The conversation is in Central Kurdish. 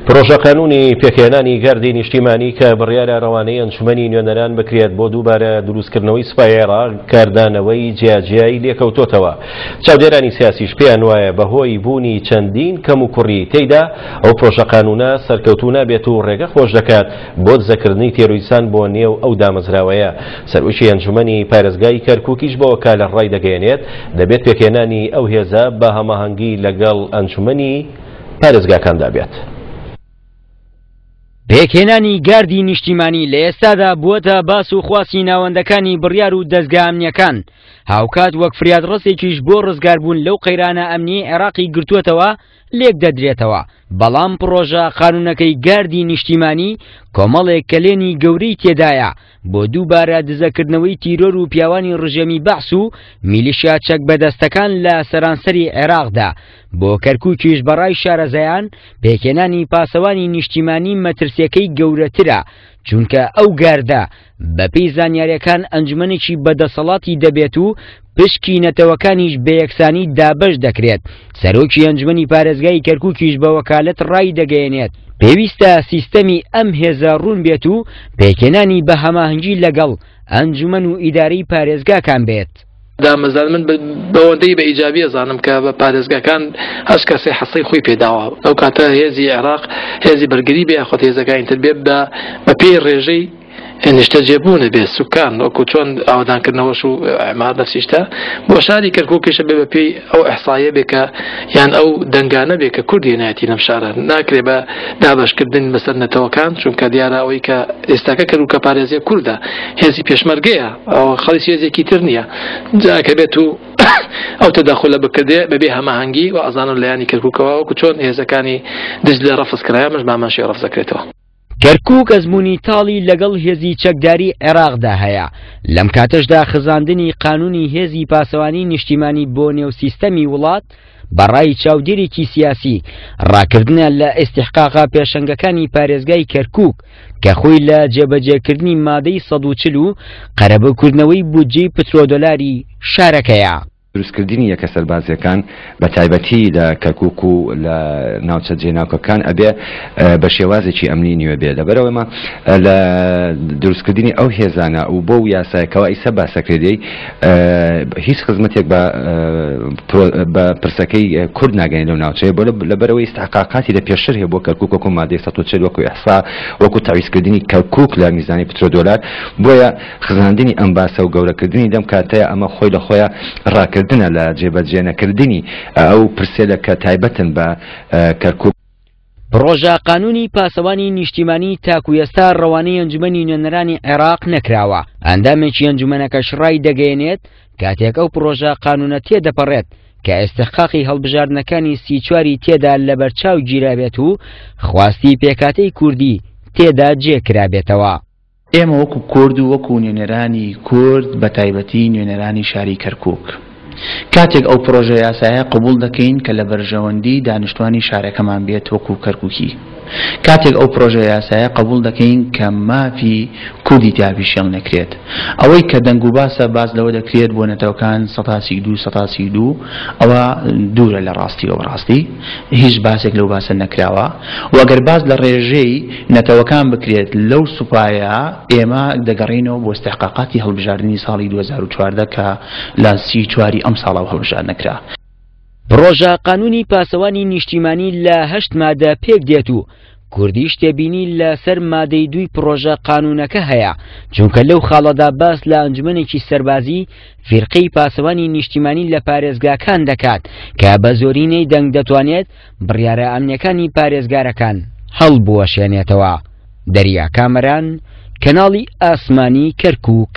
پرۆژەقانوونی پێکهێنانی گاردی نیشتیمانی کە بڕیارە رەوانەی ئەنجومەنی نوێنەران بکرێت بۆ دووبارە دروستکردنەوەی سوپای عێراق کاردانەوەی جیاجیای لێکەوتۆتەوە. چاودێرانی سیاسیش پێیان وایە بەهۆی بوونی چەندین کەموکوڕی تێیدا ئەو پرۆژەقانوونە سەرکەوتوو نابێت و رێگە خۆش دەکات بۆ دزەکردنی تێرۆیستان بۆ نێو ئەو دامەزراوەیە. سەرۆکی ئەنجومەنی پارێزگای کەرکوکیش بە وەکالە ڕایدەگەیەنێت، دەبێت پێکهێنانی ئەو هێزە بە هەماهەنگی لەگەڵ ئەنجومەنی پارێزگاکاندا بێت. پێکهێنانی گاردی نیشتیمانی لە ئێستادا بووەتە باس و خواسی ناوەندەکانی بڕیار و دەزگا ئەمنیەکان، هاوکات وەک فریادڕەسێکیش بۆ ڕزگاربوون لەو قەیرانە ئەمنیەی عێراقی گرتووەتەوە لێکدەدرێتەوە، بەڵام پڕۆژە قانوونەکەی گاردی نیشتیمانی کۆمەڵێک کەلێنی گەورەی تێدایە بۆ دووبارە دزەکردنەوەی تیرۆر و پیاوانی ڕژێمی بەعس و میلیشیا چەک بەدەستەکان لە سەرانسەری عێراقدا. بۆ کەرکووکیش بەڕای شارەزایان پێکهێنانی پاسەوانی نیشتیمانی مەترسیەکەی گەورەترە، چونکە ئەو گاردە بەپێی زانیاریەکان ئەنجومەنێکی بەدەسەڵاتی دەبێت و پشکی نەتەوەکانیش بەیەکسانی دابەش دەکرێت، سەرۆکی ئەنجومەنی پارێزگای کەرکوکیش بە وەکالەت ڕایدەگەیەنێت، پێویستە سیستەمی ئەم هێزە ڕوون بێت و پێکهێنانی بە هەماهەنگی لەگەڵ ئەنجومەن و ئیدارەی پارێزگاکان بێت. دامەزران من بەوەندەی بە ئیجابی ئەزانم کە بە پارێزگاکان هەر کەسێ حەسەی خۆی پێداوە ئەو کاتە هێزی عێراق هێزی بەرگری بێ یاخود هێزەکانی تر بێ بە بەپێی ڕێژەی نیشتەجێبوون بێ سوکان وەکو چۆن ئاوەدانکردنەوەش و ئەمار نەفسیشتە بۆ شاری کەرکووکیشە بێ بەپێی ئەو ئەحسایە بێ کە یان ئەو دەنگانە بێ کە کورد هێنایەتی لەم شارە ناکرێ بە دابەشکردن بەسەر نەتەوەکان چونکە دیارە ئەوەی کە ئێستاکە کەرکووکە پارێزیە کوردە هێزی پێشمەرگەیە ئەوە خەڵی هێزێکی تر نییە جا کە بێت و ئەو تەدەخولە بکردێ بەبێ هەماهەنگی و ئەزانم لایەنی کەرکووکەوە وەکو چۆن هێزەکانی دجلە ڕەفز کرایە مش بامان شێ ڕەفز دەکرێتەوە. کەرکووک ئەزموونی تاڵی لەگەڵ هێزی چەکداری عێراقدا هەیە، لەم کاتەشدا خزاندنی قانوونی هێزی پاسەوانی نیشتیمانی بۆ نێو سیستەمی وڵات بە ڕای چاودێرێکی سیاسی ڕاکردنە لە ئیستیحقاقە پێشەنگەکانی پارێزگای کەرکووک کە خۆی لە جێبەجێکردنی مادەی 140 و قەرەبووکردنەوەی بودجەی پترۆدۆلاری شارەکەیە. دروستکردنی یەکە سەربازیەکان بە تایبەتی لە کەرکوک و لە ناوچە جێناوکەکان ئەبێ بە شێوازێکی ئەمنی نوێ بێ لەبەرئەوەی ئێمە لە دروستکردنی ئەو هێزانە و بەو یاسایە کەوا ئیسە باسەکرێ دێی هیچ خزمەتێک بە بە پرسەکەی کورد ناگەین لەو ناوچەیە بۆ لەبەرئەوەی ئیستحقاقاتی لە پێشتر هەیە بۆ کەرکوک وەکو مادەی 140 وەکو ئیحسا وەکو تەعویزکردنی کەرکوک لە میزانی پترۆدۆلار بۆیە خزاندنی ئەم باسە و گەورەکردنی لەم کاتەیا ئەمە خۆی لە خۆیا ڕاکردنە لە جێبەجێنەکردنی ئەو پرسەیلە کە تایبەتن بە کەرکوک. پڕۆژە قانوونی پاسەوانی نیشتیمانی تاکو ئێستا ڕەوانەی ئەنجومەنی نوێنەرانی عێراق نەکراوە، ئەندامێکی ئەنجومەنەکەش ڕایدەگەیەنێت، کاتێک ئەو پڕۆژە قانوونە تێدەپەڕێت کە ئیستحقاقی هەڵبژاردنەکانی 34ی تێدا لەبەرچاو گیرابێت و خواستی پێکهاتەی کوردی تێدا جێکرابێتەوە. ئێمە وەکو کورد و وەکو نوێنەرانی کورد بە تایبەتی نوێنەرانی شاری کەرکوک کاتێک ئەو پرۆژە یاسایە قبوڵ دەکەین کە لە بەرژەوەندی دانیشتوانی شارەکەمان بێت وەکو کەرکوکی کاتێک ئەو پرۆژە یاسایە قبوڵ دەکەین کە مافی کوردی تیا پیشێڵ نەکرێت ئەوەی کە دەنگ و باسە باس لەوە دەکرێت بۆ نەتەوەکان 132 132 ئەوە دوورە لە ڕاستیەوە بەڕاستی هیچ باسێک لەو باسە نەکراوە و ئەگەر باس لە ڕێژەی نەتەوەکان بکرێت لەو سوپایە ئێمە دەگەڕێینەوە بۆ ئیستحقاقاتی هەڵبژاردنی ساڵی 2014 کە لە 34 ی ئەم ساڵەوە هەڵبژاردنە کرا. پڕۆژە قانوونی پاسەوانی نیشتیمانی لە هەشت مادە پێک دێت و کوردیش تێبینی لە سەر مادەی دووی پڕۆژە قانوونەکە هەیە، چونکە لەو خاڵەدا باس لە ئەنجومەنێکی سەربازی فیرقەی پاسەوانی نیشتیمانی لە پارێزگاکان دەکات کە بە زۆرینەی دەنگ دەتوانێت بڕیارە ئەمنیەکانی پارێزگارەکان هەڵبوەشێنێتەوە. دەریا کامەران، کەناڵی ئاسمانی کەرکووک.